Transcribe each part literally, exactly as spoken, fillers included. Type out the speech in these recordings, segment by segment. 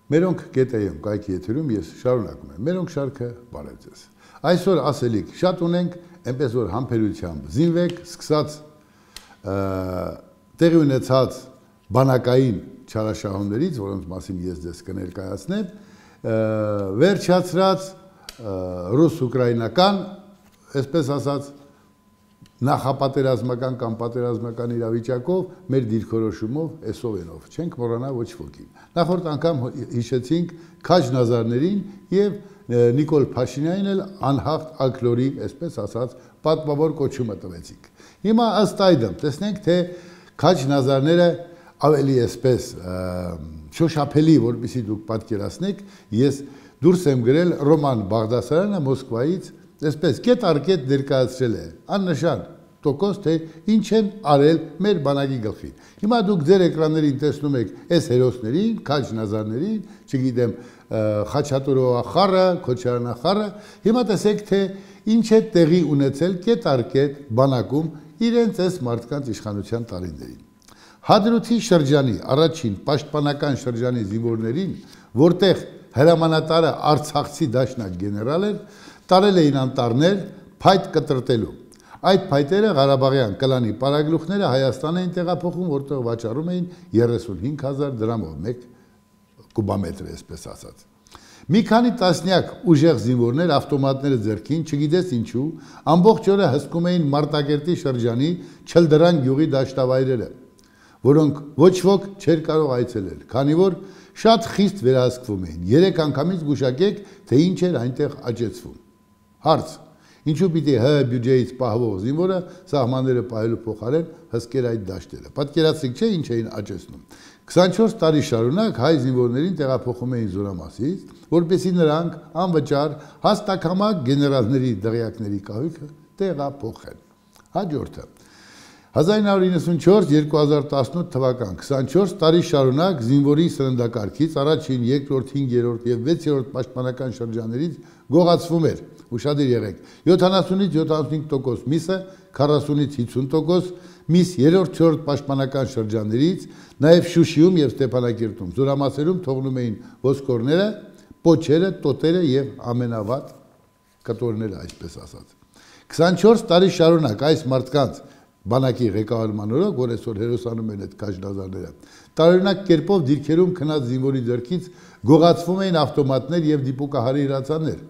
Մերոնք գետեյում կայքի եթերում ես շարունակում եմ։ Մերոնք շարքը բարև ձեզ։ Այսօր ասելիք շատ ունենք, այնպես որ համբերությամբ զինվեք, սկսած տեղի ունեցած բանակային չարաշահումներից, որոնց մասին ես ձեզ կներկայացնեմ, վերջացրած ռուս-ուկրաինական, այսպես ասած, նախապատերազմական կամ պատերազմական իրավիճակով մեր դիրքորոշումով էսովենով չենք մոռանա ոչ ոքին։ Նախորդ անգամ հիշեցինք Քաջ Նազարներին եւ Նիկոլ Փաշինյանին էլ անհաղթ ալկլորի, այսպես ասած, պատմավոր կոչումը տվեցինք։ Հիմա ըստ այդմ տեսնենք, թե Քաջ Նազարները ավելի այսպես շոշափելի, որպեսզի դուք պատկերացնեք, ես դուրս եմ գրել Ռոման Բաղդասարյանը Մոսկվայից, այսպես կետ առ կետ ներկայացրել է, աննշան տոկոս, թե ինչ են արել մեր բանակի գլխին։ Հիմա դուք ձեր էկրաններին տեսնում եք այս հերոսներին, Քաջ Նազարներին, չգիտեմ, Խաչատուրովա խառը, Քոչարյանա խառը, հիմա տեսեք, թե ինչ է տեղի ունեցել կետ առ կետ բանակում իրենց այս մարդկանց իշխանության տարիներին։ Հադրութի շրջանի առաջին պաշտպանական շրջանի զինվորներին, որտեղ հրամանատարը արցախցի դաշնակ գեներալ էր, տարել էին անտառներ փայտ կտրտելու։ Այդ փայտերը Ղարաբաղյան կլանի պարագլուխները Հայաստան էին տեղափոխում, որտեղ վաճառում էին երեսունհինգ հազար դրամով մեկ կուբամետր, այսպես ասած։ Մի քանի տասնյակ ուժեղ զինվորներ ավտոմատները ձեռքին, չգիտես ինչու, ամբողջ օրը հսկում էին Մարտակերտի շրջանի Չլդրան գյուղի դաշտավայրերը, որոնք ոչ ոք չէր կարող այցելել, քանի որ շատ խիստ վերահսկվում էին։ Երեք անգամից գուշակեք, թե ինչ էր այնտեղ աճեցվում։ Հարց. ինչու պիտի ՀՀ բյուջեից պահվող զինվորը սահմանները պահելու փոխարեն հսկեր այդ դաշտերը։ Պատկերացրեք, չէ՞ ինչ էին աճեցնում։ քսանչորս տարի շարունակ հայ զինվորներին տեղափոխում էին Զորամասից, որպեսզի նրանք անվճար հաստակամակ գեներալների դղյակների կահույքը տեղափոխեն։ Հաջորդը հազար նույն հարյուր իննսունչորս - երկու հազար տասնութ թվական քսանչորս տարի շարունակ զինվորի սննդակարգից առաջին, երկրորդ, հինգերորդ եւ վեցերորդ պաշտպանական շրջաններից գողացվում էր, ուշադիր եղեք, յոթանասունից յոթանասունհինգ տոկոս միսը, քառասունից հիսուն տոկոս միս երրորդ, չորրորդ պաշտպանական շրջաններից, նաեւ Շուշիում եւ Ստեփանակերտում զորամասերում թողնում էին ոսկորները, պոչերը, տոտերը եւ ամենավատ կտորները, այսպես ասած։ քսանչորս տարի շարունակ այս մարդկանց բանակի ղեկավարման օրոք, որ այսօր հերոսանում են այդ Քաջ Նազարները, տարօրինակ կերպով դիրքերում քնած զինվորի ձեռքից գողացվում էին ավտոմատներ եւ դիպուկահարի հրացաններ,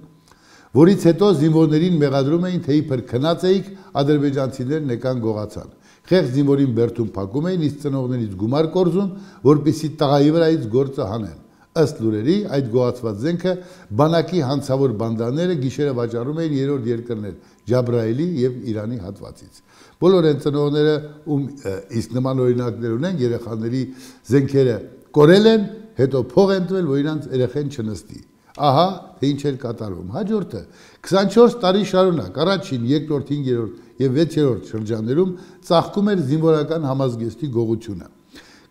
որից հետո զինվորներին մեղադրում էին, թե իբր քնած էիք, ադրբեջանցիներն եկան գողացան։ Խեղճ զինվորին բերդում փակում էին, իսկ ծնողներից գումար կորզում, որպեսզի տղայի վրայից գործը հանեն։ Ըստ լուրերի, այդ գողացված զենքը բանակի հանցավոր բանդաները գիշերը վաճառում էին երրորդ երկրներ Ջաբրայելի եւ Իրանի հատվածից։ Բոլոր այն ծնողները, ում իսկ նման օրինակներ ունեն, երեխաների զենքերը կորել են, հետո փող են տվել, որ իրանց երեխեն չնստի։ Ահա, թե ինչ էր կատարվում։ Հաջորդը քսանչորս տարի շարունակ առաջին, երկրորդ, հինգերորդ եւ վեցերորդ շրջաններում ծաղկում էր զինվորական համազգեստի գողությունը։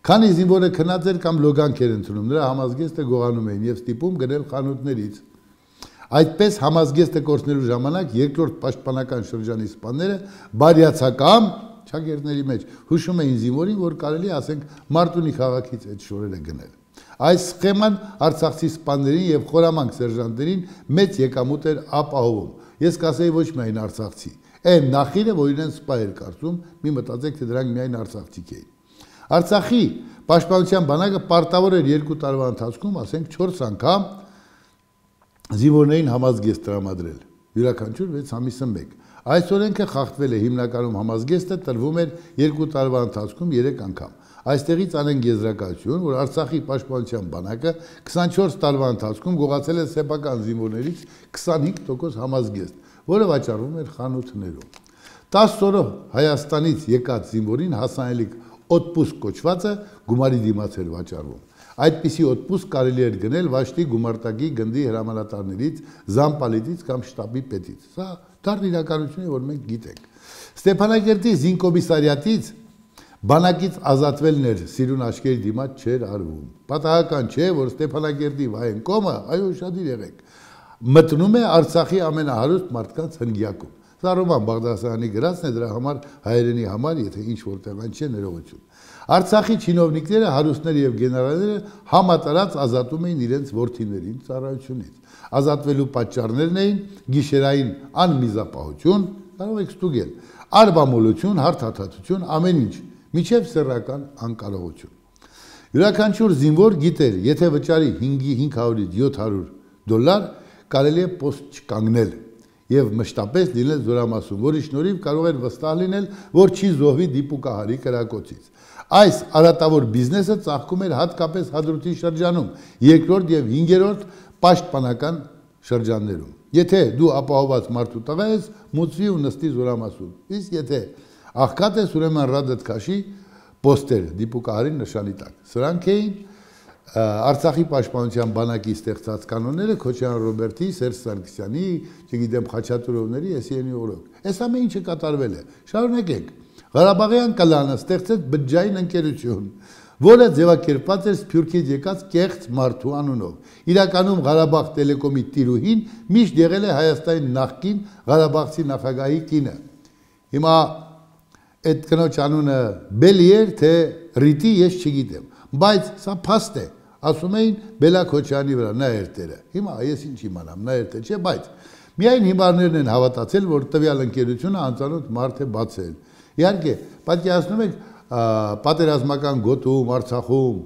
Քանի զինվորը քնած էր կամ լոգանք էր ընդունում, նրա համազգեստը գողանում էին եւ ստիպում գնել խանութներից։ Այդպես համազգեստը կորցնելու ժամանակ երկրորդ պաշտպանական շրջանի սպաները բարյացակամ ճակերտների մեջ հուշում էին զինվորին, որ կարելի ասենք Մարտունի քաղաքից այդ շորերը գնել։ Այս սխեման արցախցի սպաներին եւ խորամանկ սերժանտներին մեծ եկամուտ էր ապահովում։ Ես կասեի ոչ միայն արցախցի, այն նախիրը, որ իրեն սպա էր կարծում, մի մտածեք, թե դրանք միայն արցախցիք էին։ Արցախի պաշտպանության բանակը պարտավոր էր երկու տարվա ընթացքում, ասենք չորս անգամ զինվորներին համազգեստ տրամադրել, յուրաքանչյուր վեց ամիսը մեկ։ Այս օրենքը խախտվել է, հիմնականում համազգեստը տրվում էր երկու տարվա ընթացքում երեք անգամ։ Այստեղից անենք եզրակացություն, որ Արցախի պաշտպանության բանակը քսանչորս տարվա ընթացքում գողացել է սեփական զինվորներից քսանհինգ տոկոս համազգեստ, որը վաճառվում էր խանութներում։ տասը օրը Հայաստանից եկած զինվորին հասանելիք օտպուսկ կոչվածը գումարի դիմաց էր վաճառվում։ Այդպիսի օտպուսկ կարելի էր գնել Վաշտի գումարտակի գնդի հրամանատարներից, զամպալիտից կամ շտաբի պետից։ Սա դառն իրականություն է, որ մենք գիտենք։ Ստեփանակերտի զինկոմիսարիատից բանակից ազատվելն էր սիրուն աչքերի դիմաց չէր արվում։ Պատահական չէ, որ Ստեփանակերտի Վայենկոմը, այո, շատիր եղեք, մտնում է Արցախի ամենահարուստ մարդկանց հնգյակում։ Սա Ռոման Բաղդասարյանի գրածն է, դրա համար հայերենի համար, եթե ինչ որտեղ այն չէ, ներողություն։ Արցախի չինովնիկները, հարուստները եւ գեներալները համատարած ազատում էին իրենց որդիներին ծառայությունից։ Ազատվելու պատճառներն էին գիշերային անմիզապահություն, կարող եք ստուգել, արբամոլություն, հարթաթաթություն, ամեն ինչ, միջև սեռական անկարողություն։ Յուրաքանչյուր զինվոր գիտեր, եթե վճարի հինգ հարյուրից յոթ հարյուր դոլար, կարելի է պոստ չկանգնել եւ մշտապես լինել զորամասում, որի շնորհիվ կարող էր վստահ լինել, որ չի զոհվի դիպուկահարի կրակոցից։ Այս արատավոր բիզնեսը ծաղկում էր հատկապես Հադրութի շրջանում, երկրորդ եւ հինգերորդ պաշտպանական շրջաններում։ Եթե դու ապահոված մարդու տղա ես, մուծվի ու նստի զորամասում։ Իսկ եթե աղքատ ես, ուրեմն ռադդ քաշի պոստեր դիպուկահարի նշանի տակ։ Սրանք էին Արցախի պաշտպանության բանակի ստեղծած կանոնները Քոչարյան Ռոբերտի, Սերժ Սարգսյանի, չգիտեմ Խաչատուրովների, Էսիյանի օրոք։ Այս ամեն ինչը կատարվել է։ Շարունակենք։ Ղարաբաղյան կլանը ստեղծեց բջջային ընկերություն, որը ձևակերպված էր Սփյուռքից եկած կեղծ մարդու անունով։ Իրականում Ղարաբաղ տելեկոմի տիրուհին միշտ եղել է Հայաստանի նախկին Ղարաբաղցի նախագահի կինը։ Հիմա այդ կնոջ անունը Բելի էր, թե Ռիտի, ես չգիտեմ, բայց սա փաստ է, ասում էին Բելա Քոչարյանի վրա, նա էր տերը։ Հիմա ես ինչ իմանամ, նա էր տեր չէ, բայց միայն հիմարներն են հավատացել, որ տվյալ ընկերությունը անծանոթ մարդ է բացել։ Իհարկե, պատկերացնում եք պատերազմական գոտում, Արցախում,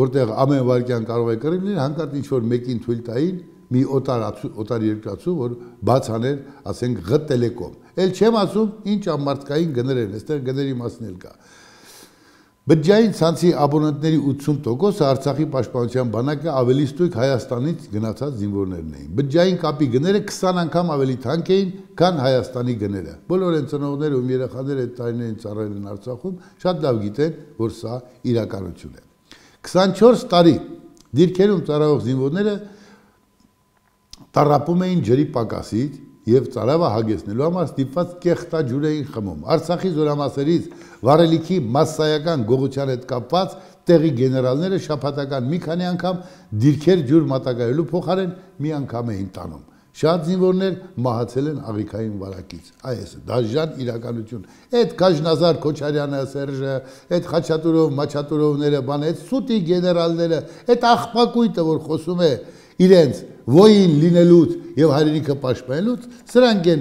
որտեղ ամեն վարքյան կարող է կռիվ լինել, հանկարծ ինչ-որ մեկին թույլ տային մի օտար երկրացու, որ բաց աներ, ասենք Ղ տելեկոմ։ Էլ չեմ ասում, ինչ ամարտկային գներ են, այստեղ գների մասն էլ կա։ Բջջային ցանցի աբոնենտների ութսուն տոկոսը Արցախի պաշտպանության բանակը ավելի ստույգ Հայաստանից գնացած զինվորներն էին։ Բջջային կապի գները քսան անգամ ավելի թանկ էին, քան Հայաստանի գները։ Բոլոր են ծնողները ում երեխաները այդ տարիներին ծառայել են Արցախում, շատ լավ գիտեն, որ սա իրականություն է։ քսանչորս տարի դիրքերում ծառայող զինվորները տառապում էին ջրի պակասից եւ ծարավը հագեցնելու համար ստիպված կեղտաջուր էին խմում։ Արցախի զորամասերից վառելիքի massայական գողության հետ կապված տեղի գեներալները շաբաթական մի քանի անգամ դիրքեր ջուր մատակարելու փոխարեն մի անգամ էին տանում։ Շատ զինվորներ մահացել են աղիքային վարակից։ Այս դաժան իրականություն։ Այդ Քաջնազար Քոչարյանը, Սերժը, այդ Խաչատուրով, Մաչատուրովները, բան, այդ սուտի գեներալները, այդ աղբակույտը, որ խոսում է իրենց ոյին լինելուց եւ հայրենիքը պաշտպանելուց, սրանք են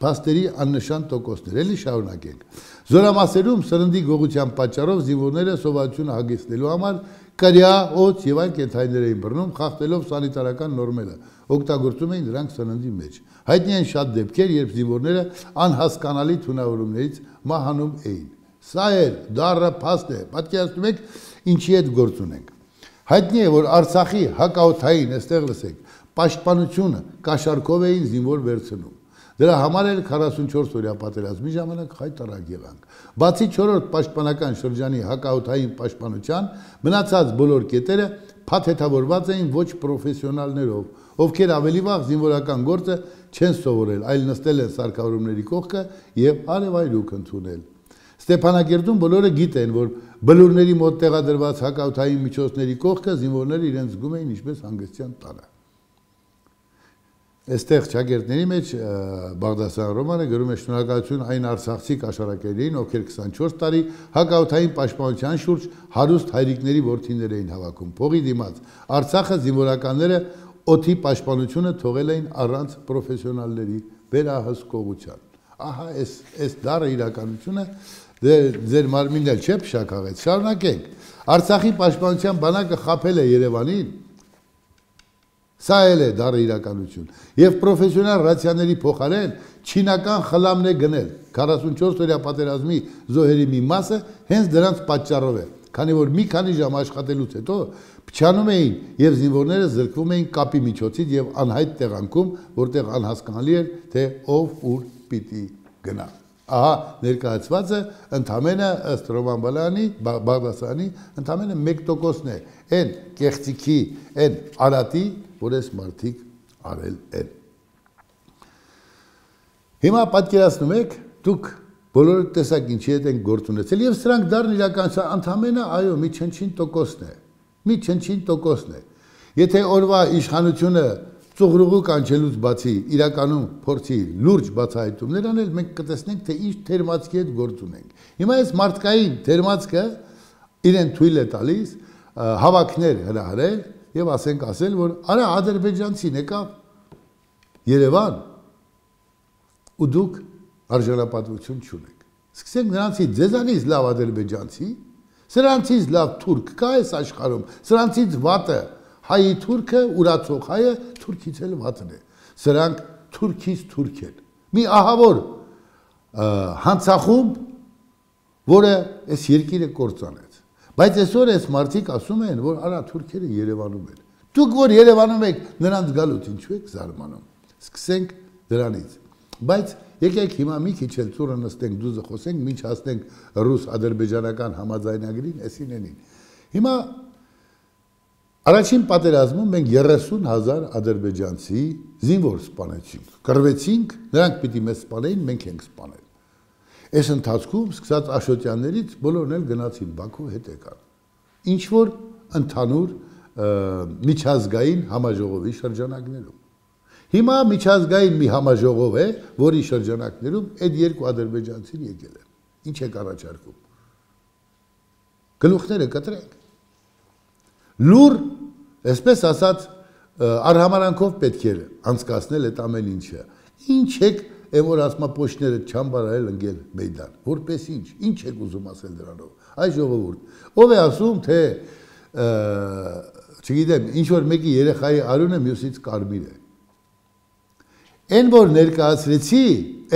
փաստերի աննշան տոկոսներ, էլի շարունակենք։ Զորամասերում սրնդի գողության պատճառով զինվորները սովորությունը հագեցնելու համար կրյա, օձ եւ այլ կենդանիներ էին բռնում, խախտելով սանիտարական նորմերը, օգտագործում էին դրանք սննդի մեջ։ Հայտնի են շատ դեպքեր, երբ զինվորները անհասկանալի թունավորումներից մահանում էին։ Սա էլ դառը փաստ է, պատկերացնում եք ինչի հետ գործ ունենք։ Հայտնի է, որ Արցախի հակաօդային, այստեղ լսեք, պաշտպանությունը կաշառքով էին զինվոր վերցնում։ Դրա համար էլ քառասունչորս օրյա պատերազմի ժամանակ խայտարակ եղանք։ Բացի չորրորդ պաշտպանական շրջանի հակաօդային պաշտպանության, մնացած բոլոր կետերը փաթեթավորված էին ոչ պրոֆեսիոնալներով, ովքեր ավելի վաղ զինվորական գործը չեն սովորել, այլ նստել են սարքավորումների կողքը եւ արևայրուք ընդունել։ Ստեփանագերդում բոլորը գիտեն, որ բլուրների մոտ տեղադրված հակաօդային միջոցների կողքը զինվորները իրենց զգում էին ինչպես հանգստյան տանը։ Այստեղ ճակերտների մեջ Բաղդասարյան Ռոմանը գրում է շնորհակալություն այն արցախցի կաշառակերներին, ովքեր քսանչորս տարի հակաօդային պաշտպանության շուրջ հարուստ հայրիկների որդիներ էին հավաքում։ Փողի դիմաց Արցախը զինվորականները օդի պաշտպանությունը թողել էին առանց պրոֆեսիոնալների վերահսկողության։ Ահա այս այս դառը իրականությունը ձեր մարմինն էլ չէ փշակաղեց։ Շարունակենք։ Արցախի պաշտպանության բանակը խաբել է Երևանին։ Սա էլ է դառը իրականություն։ Եվ պրոֆեսիոնալ ռացիաների փոխարեն չինական խլամն է գնել։ քառասունչորս օրյա պատերազմի զոհերի մի մասը հենց դրանց պատճառով է, քանի որ մի քանի ժամ աշխատելուց հետո փչանում էին եւ զինվորները զրկվում էին կապի միջոցից եւ անհայտ տեղանքում, որտեղ անհասկանալի էր, թե ով ուր պիտի գնա։ Ահա ներկայացվածը ընդամենը ըստ Ռոման Բալայանի, Բաղդասարյանի, ընդամենը մեկ տոկոսն է այն կեղծիքի, այն արատի, որ այս մարդիկ արել են։ Հիմա պատկերացնում եք, դուք բոլորը տեսակ ինչի հետ են գործ ունեցել եւ սրանք դառն իրականության ընդամենը այո մի չնչին տոկոսն է։ Մի չնչին տոկոսն է։ Եթե օրվա իշխանությունը ծուղրուղու կանչելուց բացի իրականում փորձի լուրջ բացահայտումներ անել, մենք կտեսնենք, թե ինչ թերմացքի հետ գործ ունենք։ Հիմա այս մարդկային թերմացքը իրեն թույլ է տալիս հավաքներ հրահրել եւ ասենք ասել, որ արա ադրբեջանցին եկավ Երևան ու դուք արժանապատվություն չունեք։ Սկսենք նրանցից ձեզանից լավ ադրբեջանցի, սրանցից լավ թուրք կա այս աշխարհում, սրանցից վատը հայի թուրքը, ուրացող հայը թուրքից էլ վատն է։ Սրանք թուրքից թուրք են։ Մի ահավոր հանցախումբ, որը այս երկիրը կործանեց։ Բայց այսօր այս մարդիկ ասում են, որ արա թուրքերը Երևանում են։ Դուք որ Երևանում եք, նրանց գալուց ինչու եք զարմանում։ Սկսենք դրանից։ Բայց եկեք հիմա մի քիչ էլ ծուրը նստենք, դուզը խոսենք, մինչ հասնենք ռուս-ադրբեջանական համաձայնագրին, էսին էնին։ Հիմա առաջին պատերազմում մենք երեսուն հազար ադրբեջանցի զինվոր սպանեցինք, կռվեցինք, նրանք պիտի մեզ սպանեին, մենք ենք սպանել։ Այս ընթացքում սկսած Աշոտյաններից բոլորն էլ գնացին Բաքու հետ եկան։ Ինչ որ ընդհանուր միջազգային համաժողովի շրջանակներում։ Հիմա միջազգային մի համաժողով է, որի շրջանակներում այդ երկու ադրբեջանցին եկել են։ Ինչ եք առաջարկում։ Գլուխները կտրենք։ Լուր, այսպես ասած, արհամարանքով պետք է անցկացնել այդ ամեն ինչը։ Ինչ եք Եմ որ ասմա պոշները չամբարայել ընգել մեյդան, որպես ինչ, ինչ եք ուզում ասել դրանով, այ ժողովուրդ, ով է ասում, թե, չգիտեմ, ինչ-որ մեկի երեխայի արյունը մյուսից կարմիր է։ Են որ ներկայացրեցի,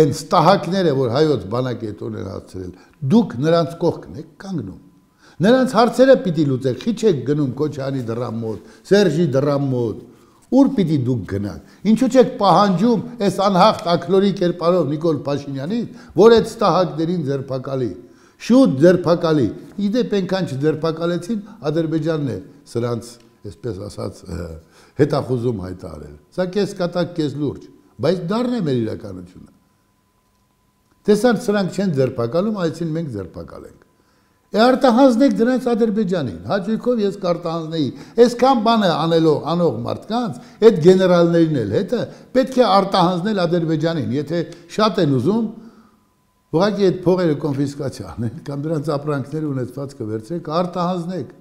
են ստահակները, որ հայոց բանակ է տոներ հացրել, դուք նրանց կողքն եք կանգնում։ Նրանց հարցերը պիտի լուծեք, խիչ եք գնում Քոչարյանի դռան մոտ, Սերժի դռան մոտ, Ուր պիտի դուք գնաք, ինչու չեք պահանջում այս անհաղթ ակլորի կերպարով Նիկոլ Փաշինյանից, որ այդ ստահակներին ձերբակալի, շուտ ձերբակալի, իդեպ այնքան չձերբակալեցին, Ադրբեջանն է սրանց, այսպես ասած, հետախուզում հայտարարել, սա կես կատակ, կես լուրջ, բայց դառն է մեր իրականությունը։ Տեսան սրանք չեն ձերբակալում, այսին մենք ձերբակալենք։ Արտահանձնեք դրանց Ադրբեջանին, հաճույքով ես կարտահանձնեի, այսքան բանը անելով անող մարդկանց, այդ գեներալներին էլ հետը պետք է արտահանձնել Ադրբեջանին, եթե շատ են ուզում, ուղղակի այդ փողերը կոնֆիսկացիա անեն, կամ դրանց ապրանքները ունեցվածքը վերցրեք, արտահանձնեք։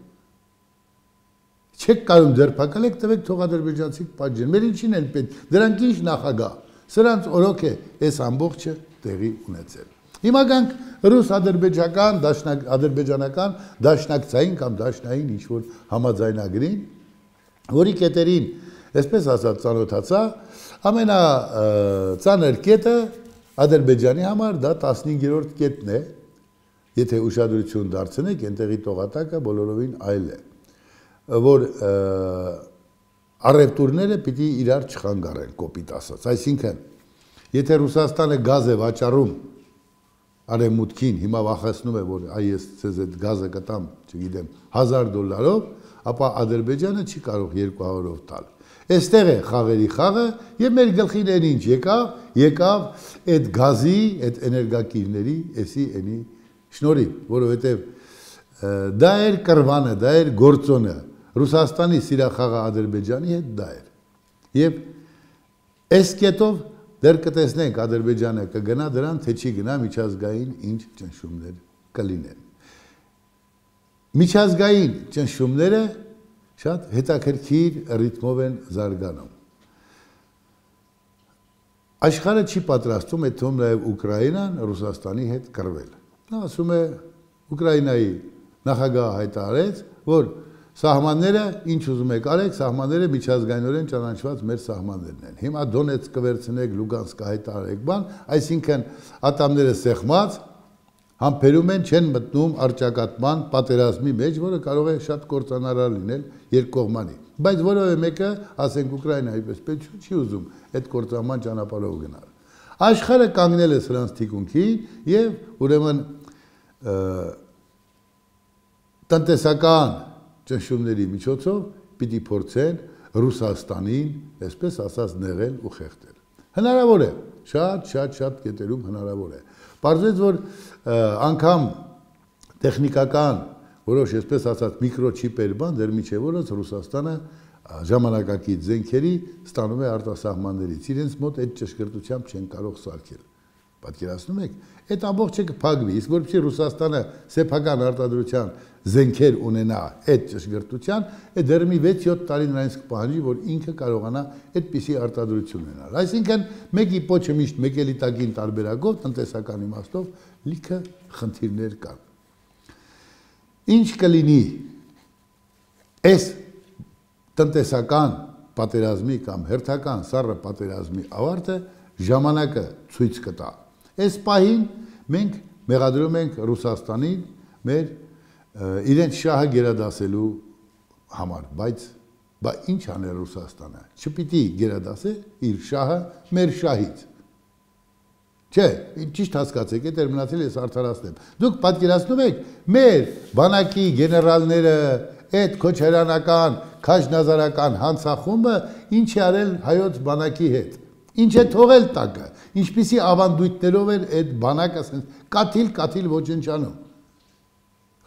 Չեք կարող ձերբակալեք, տվեք թող ադրբեջանցիք պատժեն, մեր ինչին են պետք, դրանք ինչ նախագահ, սրանց օրոք է այս ամբողջը տեղի ունեցել։ Հիմա գանք ռուս-ադրբեջական, ադրբեջանական դաշնակցային կամ դաշնային ինչ-որ համաձայնագրին, որի կետերին, այսպես ասած, ծանոթացա, ամենածանր կետը Ադրբեջանի համար դա տասնհինգերորդ կետն է, եթե ուշադրություն դարձնեք, այնտեղի տողատակը բոլորովին այլ է, որ առևտուրները պիտի իրար չխանգարեն, կոպիտ ասած, այսինքն, եթե Ռուսաստանը գազ է վաճառում Արևմուտքին, հիմա վախեցնում է, որ այ ես ցեզ այդ գազը կտամ, չգիտեմ, հազար դոլարով, ապա Ադրբեջանը չի կարող երկու հարյուրով տալ։ Այստեղ է խաղերի խաղը եւ մեր գլխին ինչ եկավ, եկավ այդ գազի, այդ էներգակիրների, էսի էնի շնորհիվ, որովհետեւ դա էր կրվանը, դա էր գործոնը, Ռուսաստանի սիրախաղը Ադրբեջանի հետ դա էր։ Եվ այս կետով դեռ կտեսնենք Ադրբեջանը կգնա դրան, թե չի գնա միջազգային ինչ ճնշումներ կլինեն։ Միջազգային ճնշումները շատ հետաքրքիր ռիթմով են զարգանում։ Աշխարհը չի պատրաստում այդ թվում նաև Ուկրաինան Ռուսաստանի հետ կռվել։ Նա ասում է Ուկրաինայի նախագահը հայտարարեց, որ Սահմանները, ինչ ուզում եք արեք, սահմանները միջազգայինորեն ճանաչված մեր սահմաններն են։ Հիմա Դոնեցկը վերցնեք, Լուգանսկը հայտարարեք բան, այսինքն ատամները սեղմած, համբերում են, չեն մտնում առճակատման պատերազմի մեջ, որը կարող է շատ կործանարար լինել երկկողմանի։ Բայց որևէ մեկը, ասենք Ուկրաինայի պես պետք չի ուզում այդ կործանման ճանապարհով գնալ։ Աշխարհը կանգնել է սրանց թիկունքին եւ ուրեմն տնտեսական ճնշումների միջոցով պիտի փորձեն Ռուսաստանին, այսպես ասած, նեղել ու խեղդել։ Հնարավոր է, շատ, շատ, շատ կետերում հնարավոր է։ Պարզվեց, որ անգամ տեխնիկական որոշ, այսպես ասած, միկրոչիպեր բան, դեռ միջև որոնց Ռուսաստանը ժամանակակից զենքերի ստանում է արտասահմաններից, իրենց մոտ այդ ճշգրտությամբ չեն կարող սարքել։ Պատկերացնում եք, այդ ամբողջը կփակվի, իսկ որպեսզի Ռուսաստանը սեփական արտադրության զենքեր ունենա այդ ճշգրտության, այդ դեռ մի վեց-յոթ տարի նրանց կպահանջի, որ ինքը կարողանա այդպիսի արտադրություն ունենալ։ Այսինքն մեկի պոչը միշտ մեկ էլի տակին տարբերակով տնտեսական իմաստով լիքը խնդիրներ կան։ Ինչ կլինի այս տնտեսական պատերազմի կամ հերթական սառը պատերազմի ավարտը ժամանակը ցույց կտա։ Այս պահին մենք մեղադրում ենք Ռուսաստանին մեր իրենց շահը գերադասելու համար, բայց բա ինչ աներ Ռուսաստանը, չպիտի գերադասե իր շահը մեր շահից։ Չէ, ճիշտ հասկացեք, այդ էր մնացել ես արդարացնեմ։ Դուք պատկերացնում եք, մեր բանակի գեներալները, այդ քոչարանական, քաջնազարական հանցախումբը ինչ է արել հայոց բանակի հետ։ Ինչ է թողել տակը, ինչպիսի ավանդույթներով էր այդ բանակը կաթիլ-կաթիլ ոչնչանում։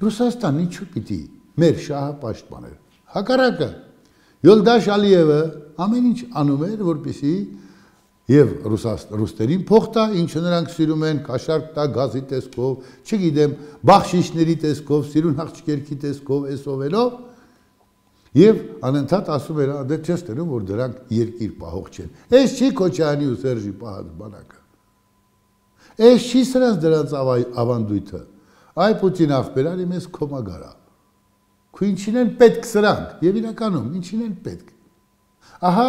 Ռուսաստանը ինչու պիտի մեր շահը պաշտպաներ։ Հակառակը Յոլդաշ Ալիևը ամեն ինչ անում էր, որպեսզի եւ ռուսերին փող տա, ինչը նրանք սիրում են, կաշառք տա գազի տեսքով, չգիտեմ, բախշիշների տեսքով, սիրուն աղջիկերքի տեսքով, էսովելով, եւ անընդհատ ասում էր, դե չես տենում, որ դրանք երկիր պահող չեն։ Այս չի Քոչարյանի ու Սերժի պահած բանակը։ Այս չի սրանց դրանց ավանդույթը։ Այ Պուտին ախպերարի մեզ կոմագարա։ Քու ինչին են պետք սրանք, եւ իրականում ինչին են պետք։ Ահա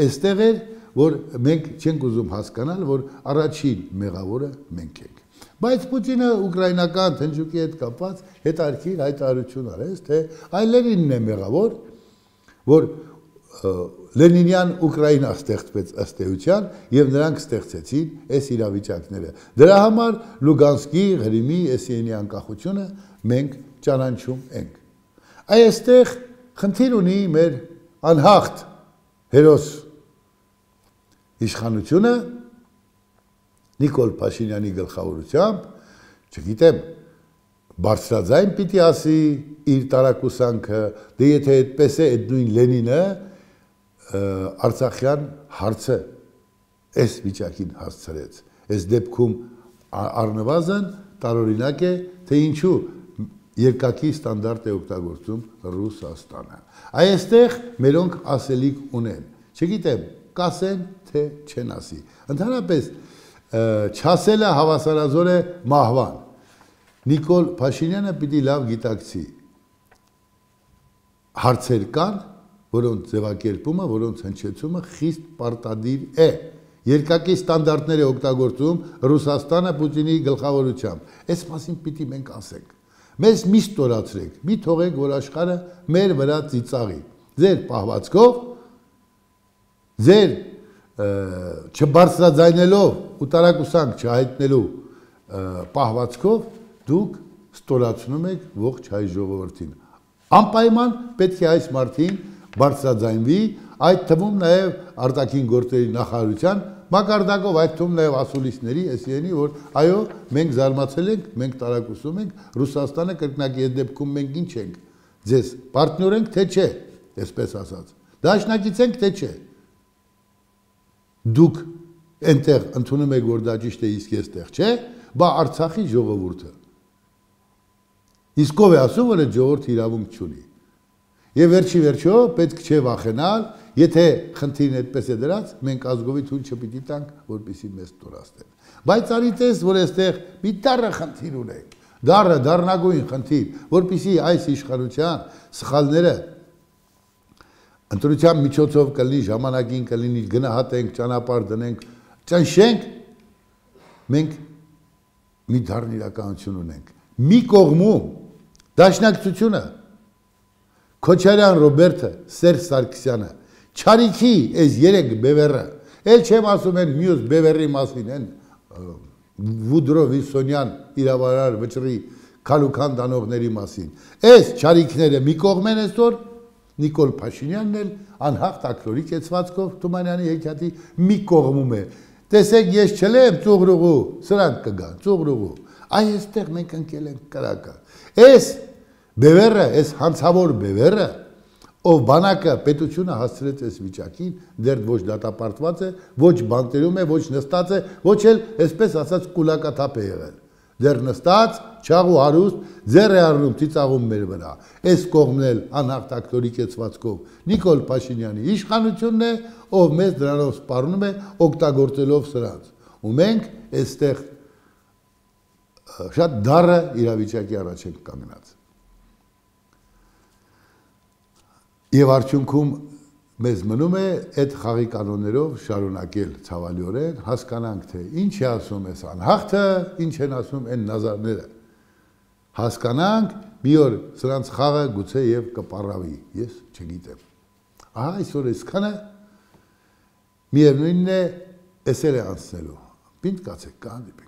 այստեղ էր, որ մենք չենք ուզում հասկանալ, որ առաջին մեղավորը մենք ենք։ Բայց Պուտինը ուկրաինական թնջուկի հետ կապված հետարքիր հայտարարություն արեց, թե այ Լենինն է մեղավոր, որ Լենինյան Ուկրաինա ստեղծվեց ըստ էության եւ նրանք ստեղծեցին այս իրավիճակները։ Դրա համար Լուգանսկի, Ղրիմի, Էսիենի անկախությունը մենք ճանաչում ենք։ Այստեղ խնդիր ունի մեր անհաղթ հերոս իշխանությունը Նիկոլ Փաշինյանի գլխավորությամբ, չգիտեմ, բարձրաձայն պիտի ասի իր տարակուսանքը, դե եթե այդպես է, այդ նույն Լենինը Արցախյան հարցը այս վիճակին հասցրեց։ Այս դեպքում առնվազն տարօրինակ է, թե ինչու երկակի ստանդարտ է օգտագործում Ռուսաստանը։ Այստեղ մերոնք ասելիք ունեն։ Չգիտեմ, կասեն, թե չեն ասի։ Ընդհանրապես չասելը հավասարազոր է մահվան։ Նիկոլ Փաշինյանը պիտի լավ գիտակցի։ Հարցեր կան, որոնց ձևակերպումը, որոնց հնչեցումը խիստ պարտադիր է։ Երկակի ստանդարտներ է օգտագործում Ռուսաստանը Պուտինի գլխավորությամբ։ Այս մասին պիտի մենք ասենք։ Մեզ մի ստորացրեք, մի թողեք, որ աշխարհը մեր վրա ծիծաղի։ Ձեր պահվածքով, ձեր չբարձրաձայնելով ու տարակուսանք չհայտնելու պահվածքով դուք ստորացնում եք ողջ հայ ժողովրդին։ Անպայման պետք է այս մարդին բարձրաձայնվի, այդ թվում նաև արտաքին գործերի նախարարության մակարդակով, այդ թվում նաև ասուլիսների, էսիենի, որ այո, մենք զարմացել ենք, մենք տարակուսում ենք, Ռուսաստանը կրկնակի այդ դեպքում մենք ինչ ենք, ձեզ պարտներ ենք, թե չէ, այսպես ասած, դաշնակից ենք, թե չէ։ Դուք այնտեղ ընդունում եք, որ դա ճիշտ է, իսկ այստեղ չէ, բա Արցախի ժողովուրդը։ Իսկ ով է ասում, որ այդ ժողովուրդը իրավունք չունի։ Եվ վերջի վերջո պետք չէ վախենալ, եթե խնդիրն այդպես է դրած, մենք ազգովի թույլ չպիտի տանք, որպեսզի մեզ ստորացնեն։ Բայց արիտես, որ այստեղ մի դառը խնդիր ունենք, դառը, դառնագույն խնդիր, որպեսզի այս իշխանության սխալները ընտրության միջոցով կլինի, ժամանակին կլինի, գնահատենք, ճանապարհ դնենք, ճնշենք, մենք մի դառն իրականություն ունենք։ Մի կողմում դաշնակցությունը Քոչարյան Ռոբերտը, Սերժ Սարգսյանը, Չարիքի այս երեք բևեռը, էլ չեմ ասում են մյուս բևեռի մասին, են Վուդրո Վիլսոնյան իրավարար վճռի քալուքան դանողների մասին։ Այս չարիքները մի կողմ են այսօր, Նիկոլ Փաշինյանն էլ անհաղթ ակրորի կեցվածքով Թումանյանի հեքիաթի մի կողմում է։ Տեսեք, ես չլեմ ծուղրուղու, սրանք կգան, ծուղրուղու։ Այ այստեղ մենք ընկել ենք կրակը։ Այս բևեռը, այս հանցավոր բևեռը, ով բանակը պետությունը հասցրեց այս վիճակին, դեռ ոչ դատապարտված է, ոչ բանտերում է, ոչ նստած է, ոչ էլ, այսպես ասած, կուլակաթափ է եղել։ Դեռ նստած, չաղ ու հարուստ, ձեռ է առնում ծիծաղում մեր վրա։ Այս կողմն էլ անհաղթակտորի կեցվածքով Նիկոլ Փաշինյանի իշխանությունն է, ով մեզ դրանով սպառնում է, օգտագործելով սրանց։ Ու մենք այստեղ շատ դառը իրավիճակի առաջ ենք կանգնած։ Եվ արդյունքում մեզ մնում է այդ խաղի կանոններով շարունակել ցավալիորեն, հասկանանք, թե ինչ է ասում այս անհաղթը, ինչ են ասում այն նազարները։ Հասկանանք, մի օր սրանց խաղը գուցե եւ կպառավի, ես չգիտեմ։ Ահա այսօր այսքանը միևնույնն է, էսել է անցնելու։ Պինդ կացեք, կհանդիպենք։